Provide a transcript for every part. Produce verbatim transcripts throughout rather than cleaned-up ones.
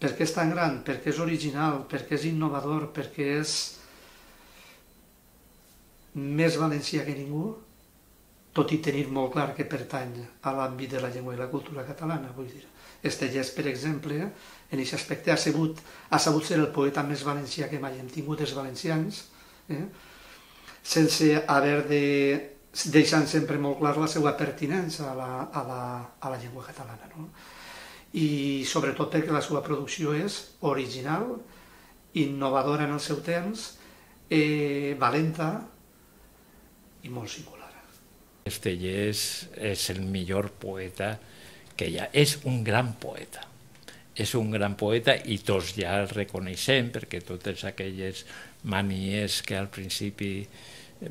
Per què és tan gran? Perquè és original, perquè és innovador, perquè és més valencià que ningú, tot i tenir molt clar que pertany a l'àmbit de la llengua i la cultura catalana, vull dir. Estellés, per exemple, en aquest aspecte ha sabut, ha sabut ser el poeta més valencià que mai hem tingut els valencians, eh? sense haver de... deixant sempre molt clar la seva pertinença a la, a la, a la llengua catalana. No? I sobretot perquè la seva producció és original, innovadora en el seu temps, eh, valenta i molt singular. Estellés és el millor poeta que hi ha. És un gran poeta. És un gran poeta i tots ja el reconeixem perquè totes aquelles manies que al principi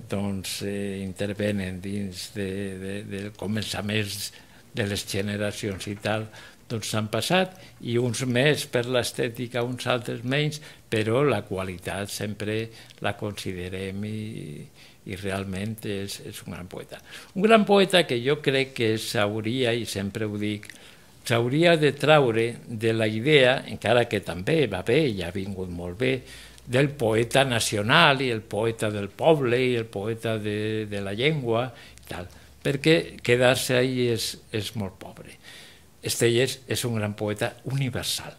doncs, eh, intervenen dins de, de, de començaments de les generacions i tal, doncs s'han passat, i uns més per l'estètica, uns altres menys, però la qualitat sempre la considerem i, i realment és, és un gran poeta. Un gran poeta que jo crec que s'hauria, i sempre ho dic, s'hauria de traure de la idea, encara que també va bé i ha vingut molt bé, del poeta nacional i el poeta del poble i el poeta de, de la llengua i tal, perquè quedar-se ahí és, és molt pobre. Estellés és un gran poeta universal.